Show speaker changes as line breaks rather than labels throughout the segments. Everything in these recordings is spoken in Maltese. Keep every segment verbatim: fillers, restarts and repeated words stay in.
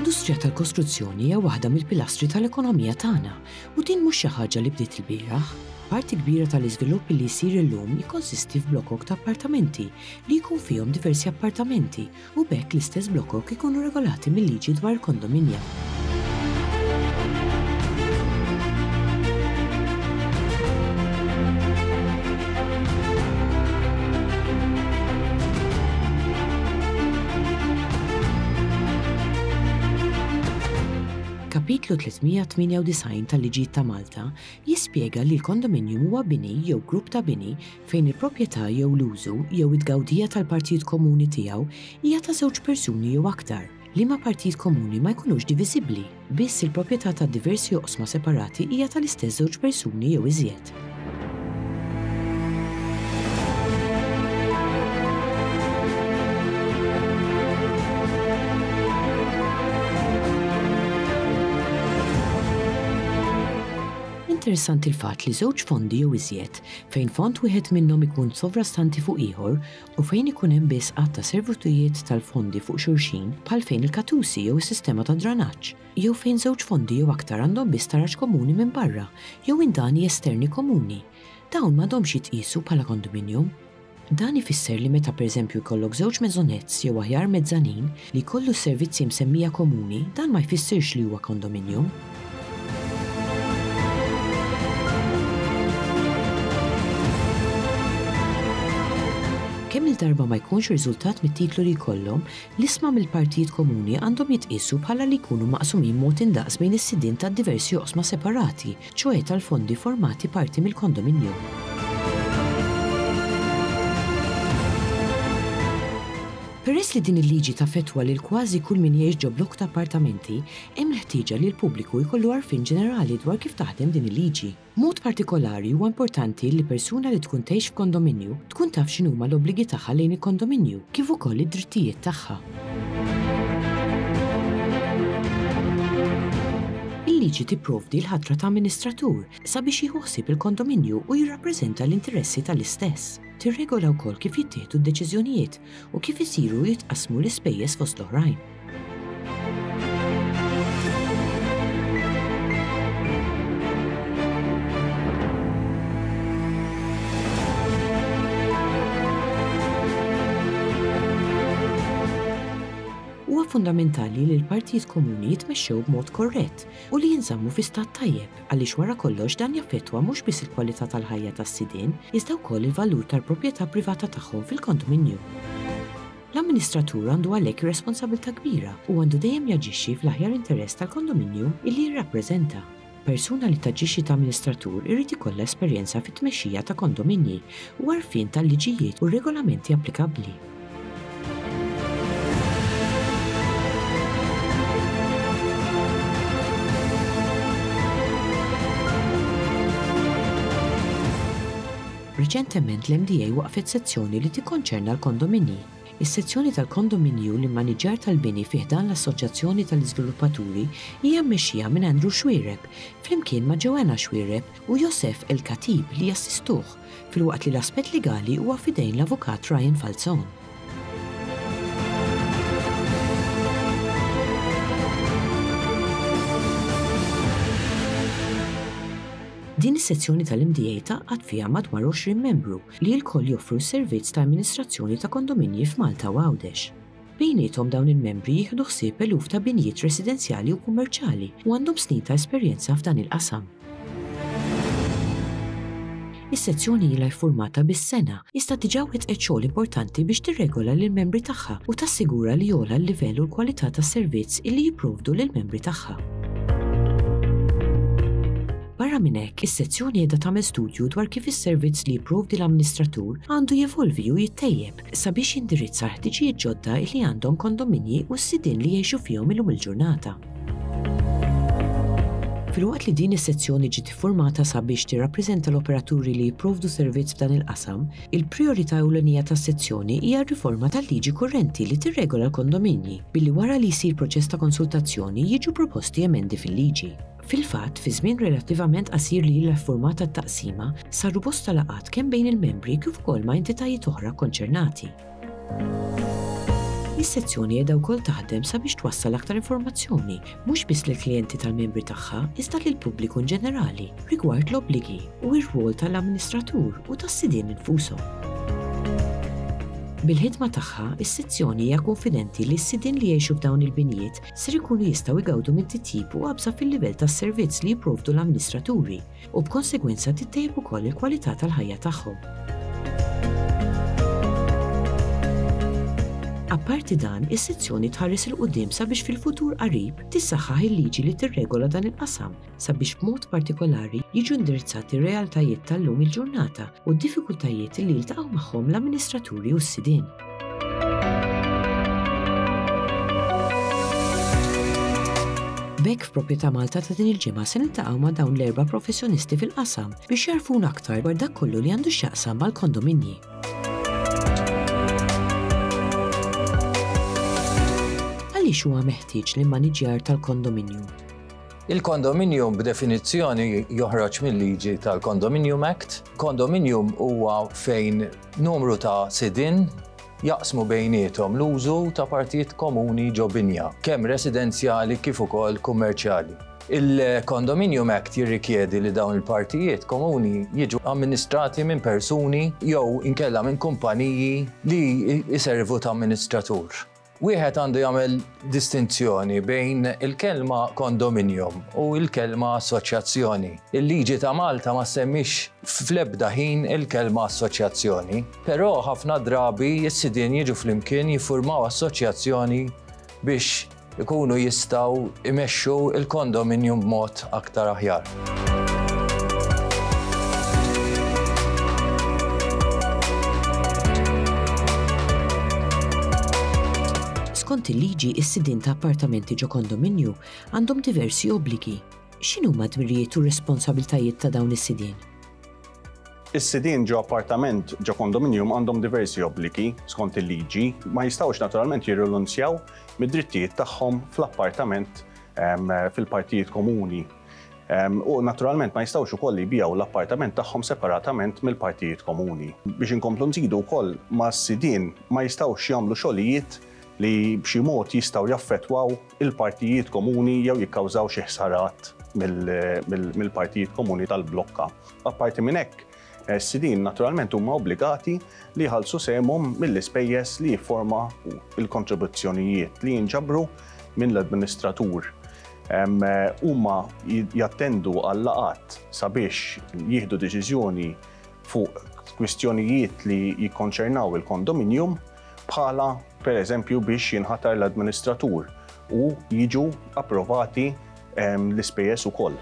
L-industrija tal-kostruzzjoni hija waħda mill-pilastri tal-ekonomija tagħna u din mhux xi ħaġa li bdiet ilbieraħ. Parti kbira tal-iżvilupp li jsir illum jikkonsisti f'blokok ta' appartamenti li jkun fihom diversi appartamenti u b'hekk l-istess blokok ikunu regolati mil-liġi dwar il-kondominja. Kapitlu tliet mija tmienja u disgħin tal-Liġijiet ta' Malta jispjega li l-kondominium huwa bini jew grupp ta' bini fejn il-proprjetà jew l-użu jew it-tgawdija tal-partijiet komuni tiegħu hija ta' żewġ persuni jew aktar, liema partijiet komuni ma jkunux diviżibbli, biss il-proprjetà ta' diversi oqsma separati hija tal-istess żewġ persuni jew iżjed. Interessanti l-fatt li żewġ fondi jew iżjed, fejn fond wieħed minnhom ikun sovrastanti fuq ieħor u fejn ikun hemm biss għadd ta' servitujiet tal-fondi fuq xulxin bħal fejn il-katusi jew is-sistema ta' dranaġġ, jew fejn żewġ fondi jew aktar għandhom biss taraġ komuni minn barra jew indani esterni komuni. Dawn m'għadhomx jitqiesu bħala kondominium. Dan ifisser li meta pereżempju jkollok żewġ maisonets jew aħjar mezzanin li jkollu s-servizzi msemmija komuni, dan ma jfissirx li huwa kondominium. Kemm il-darba ma jkunx riżultat mit-titlu li jkollhom, l-isma mill-partijiet komuni għandhom jitqiesu bħala li jkunu maqsumin mod indaqs bejn is-sidien ta' diversi oqsma separati, ċoe tal-fondi formati parti mill-kondominju. Peress li din il-liġi taffettwa lil kważi kull min jgħix ġo blokk ta' appartamenti, hemm l-ħtieġa li l-pubbliku jkollu għarfien ġenerali dwar kif taħdem din il-liġi. Mod partikolari huwa importanti li persuna li tkun tgħix f'kondominju tkun taf x'inhuma l-obbligi tagħha lejn il-kondominju, kif ukoll id-drittijiet tagħha. Il-liġi tipprovdi l-ħatra ta' amministratur sabiex jieħu ħsieb il-kondominju u jirrappreżenta l-interessi tal-istess. Tirregola wkoll kif jittieħdu d-deċiżjonijiet u kif isiru jitqassmu l-ispejjeż fost l-oħrajn. Huwa fundamentali li l-partijiet komuni jitmexxew b'mod korrett u li jinżammu fi stat tajjeb, għaliex wara kollox dan jaffettwa mhux biss il-kwalità tal-ħajja tas-sidien, iżda wkoll il-valur tal-proprjetà privata tagħhom fil-kondominju. L-amministratur għandu għalhekk responsabilità kbira u għandu dejjem jaġixxi fl-aħjar interess tal-kondominju illi jirrappreżenta. Persuna li taġixxi ta' amministratur irid ikollha esperjenza fit-tmexxija ta' kondominji u għarfien tal-liġijiet u regolamenti applikabbli. Reċentement l-M D A waqfet sezzjoni li tikkonċerna l-kondominji. Is-sezzjoni tal-kondominju li maniġġar tal-bini fih dan l-Assoċjazzjoni tal-Iżviluppaturi hija mmexxija minn Andrew Xuereb flimkien ma' Joanna Xuereb u Josef El Khatib li jassistuh, filwaqt li l-aspett legali huwa f'idejn l-avukat Ryan Falzon. Din is-sezzjoni tal-M D A tgħaqqad fiha madwar għoxrin membru li lkoll joffru s-servizz ta' amministrazzjoni ta' kondominji f'Malta u Għawdex. Bejniethom dawn il-membri jieħdu ħsieb eluf ta' binjiet residenzjali u kummerċjali u għandhom snin ta' esperjenza f'dan il-qasam. Is-sezzjoni ilha ffurmata bis-sena, iżda diġà wettqet xogħol importanti biex tirregola lill-membri tagħha u tassigura li jogħla l-livell u l-kwalità tas-servizz illi jipprovdu lill-membri tagħha. Barra minn hekk, is-sezzjoni qiegħda tagħmel studju dwar kif is-servizz li jipprovdi l-amministratur għandu jevolvi u jittejjeb sabiex jindirizza ħtiġijiet ġodda li għandhom kondominji u s-sidien li jgħixu fihom illum il-ġurnata. Filwaqt li din is-sezzjoni ġiet iffurmata sabiex tirrappreżenta l-operaturi li jipprovdu servizz f'dan il-qasam, il-prijorità ewlenija tas-sezzjoni hija r-riforma tal-liġi kurrenti li tirregola l-kondominji, billi wara li jsir proċess ta' konsultazzjoni jiġu proposti emendi fil-liġi. Fil-fatt, fi żmien relattivament qasir li ilha ffurmata t-taqsima, saru bosta laqgħat kemm bejn il-membri kif ukoll ma' entitajiet oħra konċernati. Is-sezzjoni qiegħda wkoll taħdem sabiex twassal aktar informazzjoni mhux biss lill-klijenti tal-membri tagħha iżda lill-pubbliku in ġenerali rigward l-obbligi u r-rwol tal-amministratur u tas-sidien infushom. Bil-ħidma tagħha, is-sezzjoni hija konfidenti li s-sidien li jgħixu f'dawn il-binjiet ser ikunu jistgħu jgawdu minn titjib u qabża fil-livell tas-servizz li jipprovdu l-amministraturi u b'konsegwenza tittejjeb ukoll il-kwalità tal-ħajja tagħhom. Apparti dan, is-sezzjoni tħares 'il quddiem sabiex fil-futur qarib tissaħħaħ il-liġi li tirregola dan il-qasam sabiex b'mod partikolari jiġu indirizzati r-realtajiet tal-lum il-ġurnata u d-diffikultajiet li jiltaqgħu magħhom l-amministraturi u s-sidien. B'hekk f'Proprjetà Malta ta' din il-ġimgħa se niltaqgħu ma' dawn l-erba' professjonisti fil-qasam biex jgħarrfuna aktar dwar dak kollu li għandu x'jaqsam mal-kondominji. Għaliex huwa meħtieġ l-immaniġjar tal-kondominju?
Il-kondominium b'definizzjoni joħroġ mill-liġi tal-Condominium Act. Kondominium huwa fejn numru ta' sidien jaqsmu bejniethom l-użu ta' partijiet komuni ġo binja, kemm residenzjali kif ukoll kummerċjali. Il-Condominium Act jirrikjedi li dawn il-partijiet komuni jiġu amministrati minn persuni jew inkella minn kumpaniji li jservu ta' amministratur. Wieħed għandu jagħmel distinzjoni bejn il-kelma kondominium u l-kelma assoċjazzjoni. Il-liġi ta' Malta ma semmix fl-ebda ħin il-kelma assoċjazzjoni, però ħafna drabi s-sidien jiġu flimkien jiffurmaw assoċjazzjoni biex ikunu jistgħu imexxu il-kondominium b'mod aktar aħjar.
Skont il-liġi, is-sidien ta' appartamenti ġo kondominju għandhom diversi obbligi. X'inhuma d-dmirijiet u r-responsabiltajiet ta' dawn is-sidien?
Is-sidien ġo appartament ġo kondominium għandhom diversi obbligi skont il-liġi, ma jistgħux naturalment jirrinunzjaw mid-drittijiet tagħhom fl-appartament fil-partijiet komuni. U naturalment ma jistgħux ukoll jbiegħu l-appartament tagħhom separatament mill-partijiet komuni. Biex inkomplu nżidu wkoll ma' s-sidien ma jistgħux jagħmlu xogħlijiet li b'xi mod jistgħu jaffettwaw il-partijiet komuni jew jikkawżaw xi ħsarat mill-partijiet komuni tal-blokka. Apparti minn hekk, s-sidien naturalment huma obbligati li jħallsu sehemhom mill-ispejjeż li jifforma l-kontribuzzjonijiet li jinġabru minn l-administratur. Huma jattendu għal laqgħat sabiex jieħdu deċiżjoni fuq kwistjonijiet li jikkonċernaw il-kondominium bħala per eżempju biex jinħatar l-administratur u jiġu approvati l-ispejjeż ukoll.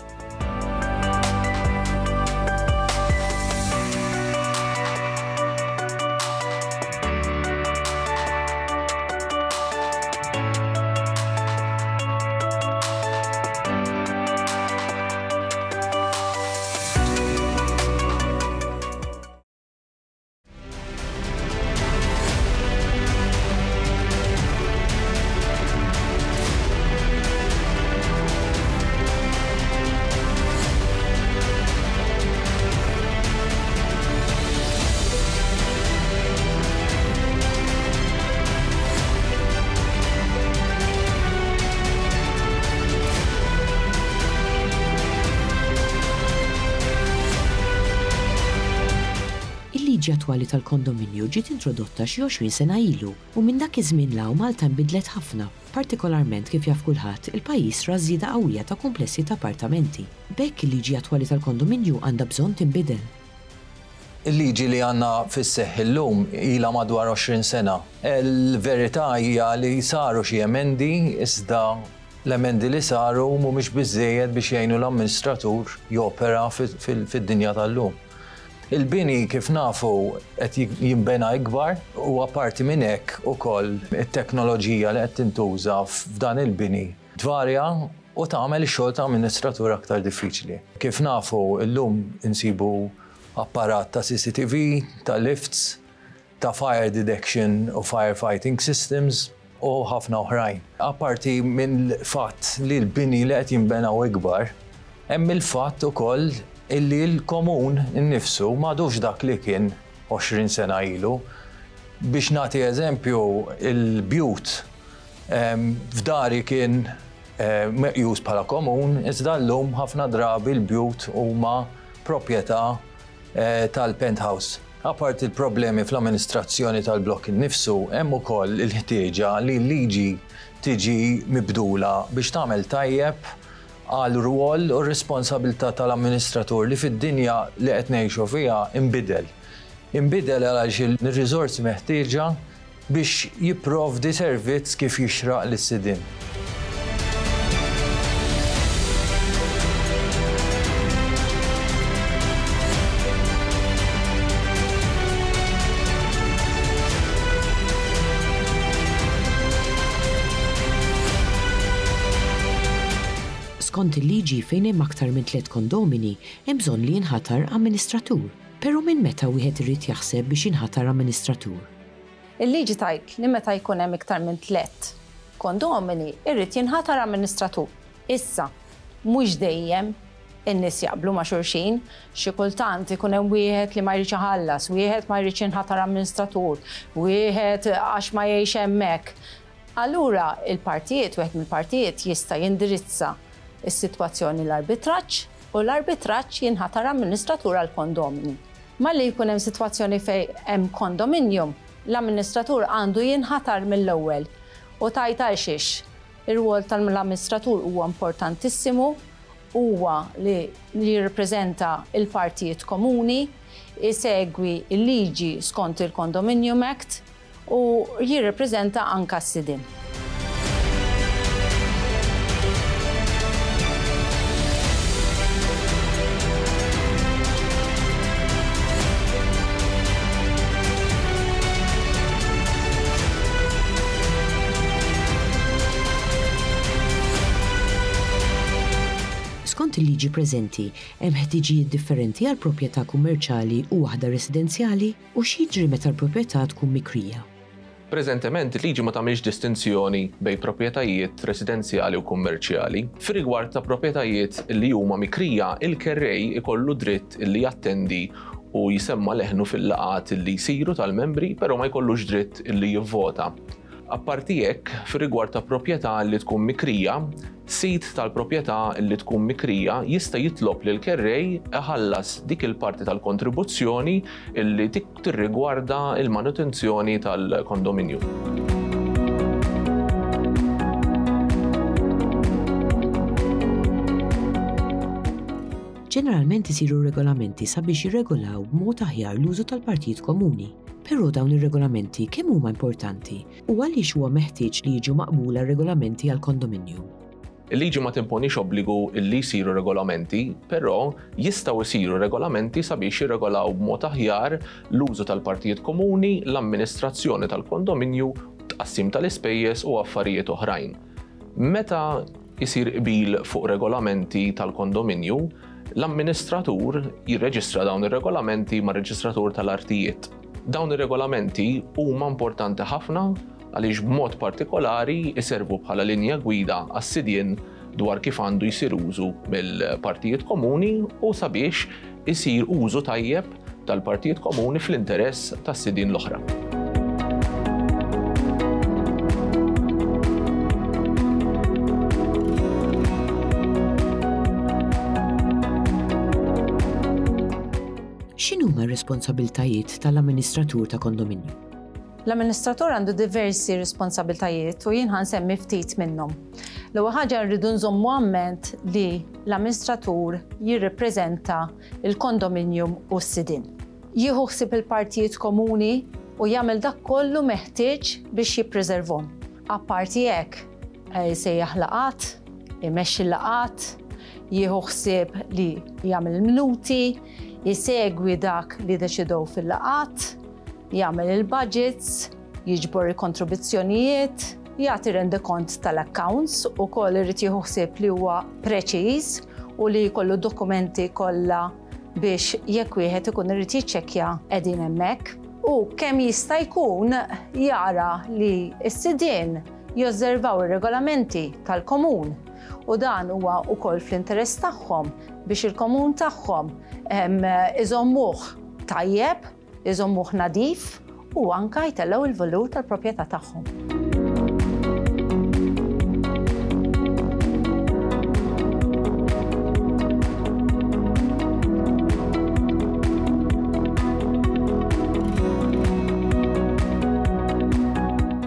Il-liġi attwali tal-kondominju ġiet introdotta xi għoxrin sena ilu u minn dak iż-żmien 'l hawn Malta nbidlet ħafna, partikolarment kif jaf kulħadd il-pajjiż ra żieda qawwija ta' komplessi ta' appartamenti. B'hekk il-liġi attwali tal-kondominju għandha bżonn tinbidel.
Il-liġi li għandna fis-seħħ illum ilha madwar għoxrin sena. Il-verità hija li saru xi emendi iżda l-emendi li saru mhumiex biżżejjed biex jgħinu l-amministratur jopera fid-dinja tal-lum. Il-bini kif nafu qed jinbena ikbar u apparti minn hekk ukoll it-teknoloġija li qed tintuża f'dan il-bini tvarja u tagħmel ix-xogħol ta' amministratur aktar diffiċli. Kif nafu llum insibu apparat ta' C C T V, ta' lifts, ta' fire detection u firefighting systems u ħafna oħrajn. Apparti minn fatt li l-bini li qed jinbenaw ikbar, hemm il-fatt ukoll illi l-komun innifsu m'għadux dak li kien għoxrin sena ilu. Biex nagħti eżempju, il-bjut f'dari kien meqjus bħala komun, iżda llum ħafna drabi l-bjut huma proprjetà tal-penthouse. Apart il-problemi fl-amministrazzjoni tal-blokk innifsu, hemm ukoll il-ħtieġa li l-liġi tiġi mibdula biex tagħmel tajjeb għal rwol u r-responsabilità tal-amministratur li fid-dinja li qed ngħixu fiha inbidel. Inbidel għaliex il-riżorsi meħtieġa biex jipprovdi servizz kif jixraq lis-sidien.
Skont il-liġi fejn hemm aktar minn tliet kondomini, hemm bżonn li jinħatar amministratur. Però minn meta wieħed irid jaħseb biex jinħatar amministratur?
Il-liġi tgħid li meta jkun hemm iktar minn tliet kondomini, irid jinħatar amministratur. Issa, mhux dejjem in-nies jaqblu ma' xulxin, xi kultant ikun hemm wieħed li ma jridx iħallas, wieħed ma jridx jinħatar amministratur, wieħed għax ma jgħix hemmhekk. Allura il-partijiet, wieħed mill-partijiet jista' jindirizza is-sitwazzjoni l-arbitraġġ u l-arbitraġġ jinħatar amministratur għal kondomini. Malli jkun hemm sitwazzjoni fejn hemm kondominium, l-amministratur għandu jinħatar mill-ewwel u tajt għal xiex. Ir-rwol tal-amministratur huwa importantissimu, huwa li jirrappreżenta l-partijiet komuni, isegwi l-liġi skont il-Condominium Act u jirrappreżenta anka s-sidien.
Skont il-liġi preżenti, hemm ħtiġijiet differenti għal proprjetà kummerċjali u waħda residenzjali u x'jiġri meta l-proprjetà tkun mikrija.
Preżentement il-liġi ma tagħmilx distinzjoni bejn proprjetajiet residenzjali u kummerċjali. Fir-rigward ta' proprjetajiet li huma mikrija, il-kerrej ikollu dritt li jattendi u jisemma leħnu fil-laqgħat li jsiru tal-membri, però ma jkollux dritt li jivvota. Apparti hekk, fir-rigward ta' proprjetà li tkun mikrija, sid tal-proprjetà li tkun mikrija jista' jitlob lil kerrej iħallas dik il-parti tal-kontribuzzjoni li tirrigwarda il-manutenzjoni tal-kondominju.
Ġeneralment isiru regolamenti sabiex jirregolaw b'mod aħjar l-użu tal-partijiet komuni. Però dawn ir-regolamenti kemm huma importanti u għaliex huwa meħtieġ li jiġu maqbula regolamenti għal kondominju?
Il-liġi ma timponix obbligu li jsiru regolamenti, però jistgħu jsiru regolamenti sabiex jirregolaw b'mod aħjar l-użu tal-partijiet komuni, l-amministrazzjoni tal-kondominju, tqassim tal-ispejjeż u affarijiet oħrajn. Meta jsir qbil fuq regolamenti tal-kondominju, l-amministratur jirreġistra dawn ir-regolamenti mar-reġistratur tal-artijiet. Dawn ir-regolamenti huma importanti ħafna għaliex b'mod partikolari jservu bħala linja gwida għas-sidien dwar kif għandu jsir użu mill-partijiet komuni u sabiex isir użu tajjeb tal-partijiet komuni fl-interess tas-sidien l-oħra.
X'inhuma r-responsabiltajiet tal-amministratur ta' kondominju?
L-amministratur għandu diversi responsabiltajiet u jien ħansemmi ftit minnhom. L-ewwel ħaġa rridu nżommu amment li l-amministratur jirrappreżenta l-kondominium u s-sidien. Jieħu ħsieb il-partijiet komuni u jagħmel dak kollu meħtieġ biex jippreservhom. Apparti hekk, jsejjaħ laqgħat, imexxi l-laqgħat, jieħu ħsieb li jagħmel il-minuti, jisegwi dak li deċidew fil-laqgħat, jagħmel il-budgets, jiġbor il-kontribuzzjonijiet, jagħti rendikont tal-accounts ukoll irid jieħu ħsieb li huwa preċiż u li jkollu dokumenti kollha biex jekk wieħed ikun irid jiċċekkja qegħdin hemmhekk. U kemm jista' jkun jara li s-sidien josservaw ir-regolamenti tal-komun u dan huwa wkoll fl-interess tagħhom biex il-komun tagħhom iżommuh tajjeb, iżommuh nadif u anka jtellgħu il-valur tal-proprjetà tagħhom.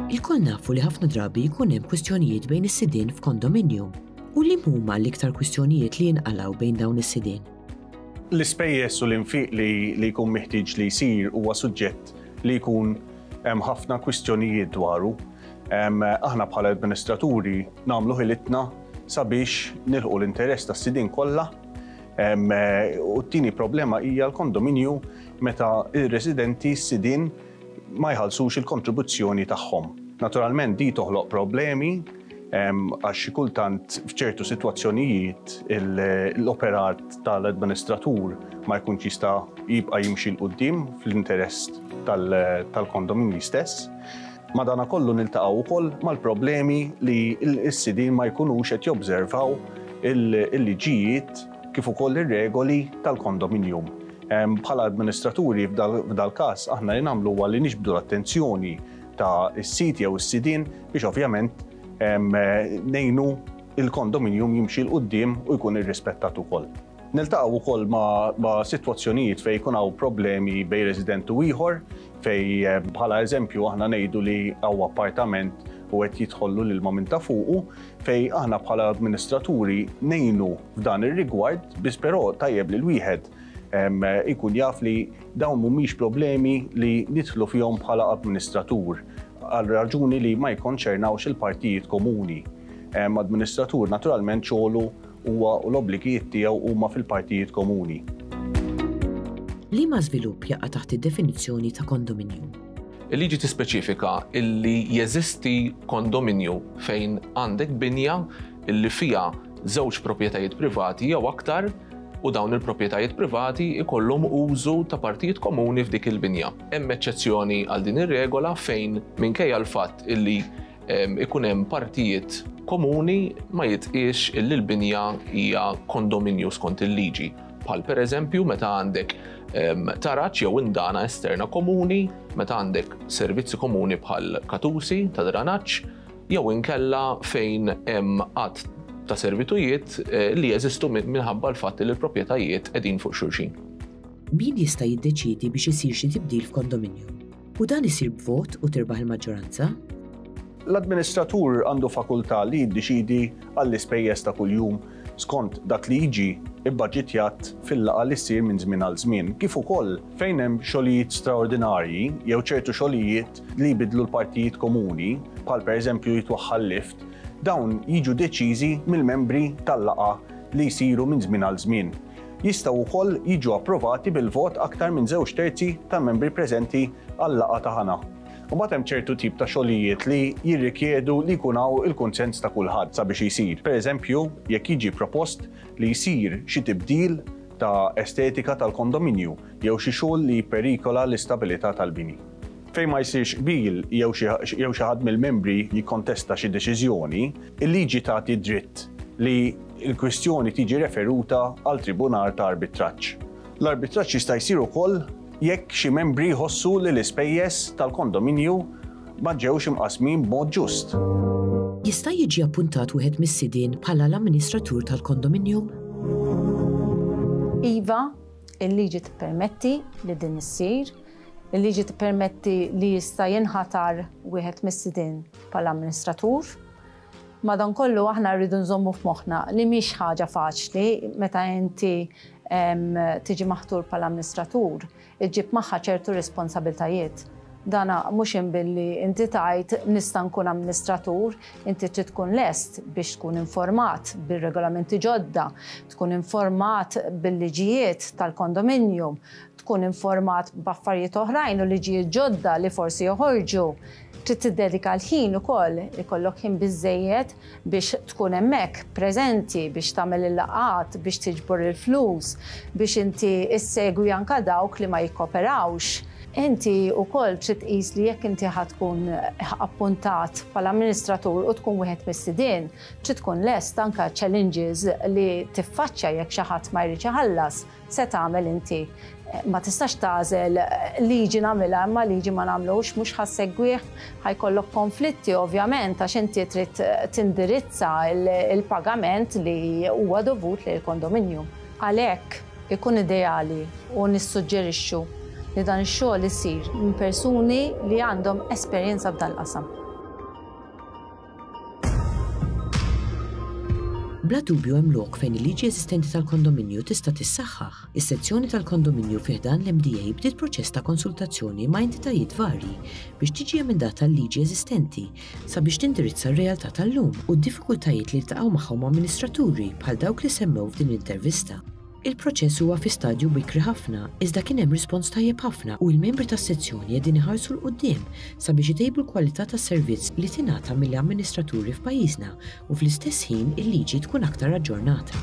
Ilkoll nafu li ħafna drabi jkun hemm kwistjonijiet bejn is-sidien f'kondominium. U li huma l-iktar kwistjonijiet li jinqalgħu bejn dawn is-sidien?
L-ispejjeż u l-infiq li, li jkun meħtieġ li jsir huwa suġġett li jkun hemm ħafna kwistjonijiet dwaru. Em, Aħna bħala amministraturi nagħmlu ħilitna sabiex nilħqu l-interess tas-sidien kollha. Em, U t-tieni problema hija l-kondominju meta ir-residenti s-sidien ma jħallsux il-kontribuzzjoni tagħhom. Naturalment di toħloq problemi em, għax xi kultant f'ċertu sitwazzjonijiet il- l-operat tal-administratur ma jkunx jista' jibqa' jimxi 'l quddiem fl-interess tal- tal-kondominji stess. Madanakollu niltaqgħu wkoll mal-problemi li s-sidien ma jkunux qed jobservaw il- il-liġijiet kif ukoll ir-regoli tal-kondominjum. Em, Bħala amministraturi f'dal f'dal-każ aħna li nagħmlu huwa li niġbdu l-attenzjoni ta' is-sit jew is-sidien biex ovvjament em, ngħinu il-kondominium jimxi 'l quddiem u jkun irrispettat ukoll. Niltaqgħu wkoll ma', ma' sitwazzjonijiet fejn jkun hawn problemi bejn resident u ieħor, fejn eh, bħala eżempju aħna ngħidu li hawn appartament u qed jidħollu l-ilma minn ta' fuqu, fejn aħna bħala amministraturi ngħinu f'dan ir-rigward, biss però tajjeb li l-wieħed em, ikun jaf li dawn mhumiex problemi li nidħlu fihom bħala amministratur għal raġuni li ma jkonċernawx il-partijiet komuni. Em, Amministratur naturalment xogħlu huwa u l-obbligijiet tiegħu huma fil-partijiet komuni.
Liema żvilupp jaqa' taħt id-definizzjoni ta' kondominju?
Il-liġi tispeċifika illi jeżisti kondominju fejn għandek binja illi fija żewġ proprjetajiet privati jew aktar u dawn il-proprjetajiet privati ikollhom użu ta' partijiet komuni f'dik il-binja. Hemm eċċezzjoni għal din ir-regola fejn minkejja l-fatt illi em, ikun hemm partijiet komuni ma jitqiex illi l-binja hija kondominju skont il-liġi. Bħal per eżempju meta għandek em, taraġ jew indana esterna komuni, meta għandek servizzi komuni bħal katusi ta' dranaġġ, jew inkella fejn hemm qatt ta' servitujiet eh, li jeżistu min- minħabba l-fatt li l-proprjetajiet qegħdin fuq xulxin.
Min jista' jiddeċiedi biex isir xi tibdil f'kondominju? U dan isir b'vot u tirbaħ il-maġġoranza?
L-amministratur għandu fakultà li jiddeċidi għall-ispejjeż ta' kuljum skont dak li jiġi ibbaġitjat fil-laqgħa li ssir minn żmien għal żmien. Kif ukoll fejn hemm xogħlijiet straordinarji jew ċertu xogħlijiet li jbidlu l-partijiet komuni, bħal pereżempju jitwaħħal lift, dawn jiġu deċiżi mill-membri tal-laqgħa li jsiru minn żmien għal żmien. Jistgħu wkoll jiġu approvati bil-vot aktar minn żewġ terzi tal-membri preżenti għal-laqgħa tagħna. U mbagħad hemm ċertu tip ta' xogħlijiet li jirrikjedu li jkun hawn il-kunsens ta' kulħadd sabiex jsir. Pereżempju, jekk jiġi propost li jsir xi tibdil ta' estetika tal-kondominju jew xi xogħol li jipperikola l-istabilità tal-bini. Fejn ma jsirx qbil jew xi jew xi ħadd mill-membri jikkontesta xi deċiżjoni, il-liġi tagħti dritt li l-kwistjoni tiġi referuta għal tribunal ta' arbitraġġ. L-arbitraġġ jista' jsir ukoll jekk xi membri jħossu li l-ispejjeż tal-kondominju ma ġewx imqasmin b'mod ġust.
Jista' jiġi appuntat wieħed mis-sidien bħala l-amministratur tal-kondominjum?
Iva, il-liġi tippermetti li din issir, il-liġi tippermetti li jista' jinħatar wieħed mis-sidien bħala amministratur. Madankollu aħna rridu nżommu f'moħħna li mhix ħaġa faċli meta inti em, tiġi maħtur bħala amministratur, iġġib magħha ċertu responsabiltajiet. Dana mhux imbilli inti tajt nista' nkun amministratur, inti trid tkun lest biex tkun informat bir-regolamenti ġodda, tkun informat bil-liġijiet tal-kondominjum, tkun informat b'affarijiet oħrajn u liġijiet ġodda li forsi joħorġu. Trid tiddedika l-ħin ukoll, ikollok ħin biżejjed biex tkun hemmhekk preżenti, biex tagħmel il-laqgħat, biex tiġbor il-flus, biex inti issegwi anke dawk li ma jikkoperawx. Inti wkoll trid tqis li jekk inti ħa tkun appuntat bħala amministratur u tkun wieħed mis-sidien, trid tkun lest anke challenges li tiffaċċja jekk xi ħadd ma jridx iħallas, se tagħmel inti. Ma tistax tagħżel liġi nagħmilha imma liġi ma nagħmlux, mhux ħa ssegwih, ħa jkollok konflitti ovvjament għax inti trid tindirizza il-pagament li huwa dovut lil kondominju. Għalhekk ikun ideali u nissuġġerixxu li dan ix-xogħol isir minn persuni li għandhom esperjenza f'dan il-qasam.
Bla dubju hemm lok fejn il-liġi eżistenti tal-kondominju tista' tissaħħaħ. Is-sezzjoni tal-kondominju fi ħdan l-M D A bdiet proċess ta' konsultazzjoni ma' entitajiet varji biex tiġi emendata l-liġi eżistenti sabiex tindirizza r-realtà tal-lum u d-diffikultajiet li ltaqgħu magħhom amministraturi bħal dawk li semmew f'din l-intervista. Il-proċess huwa fi stadju bikri ħafna, iżda kien hemm rispons tajjeb ħafna u l-membri tas-sezzjoni qegħdin iħarsu 'l quddiem sabiex itejbu l-kwalità tas-servizz li tingħata mill-amministraturi f'pajjiżna u fl-istess ħin il-liġi tkun aktar aġġornata.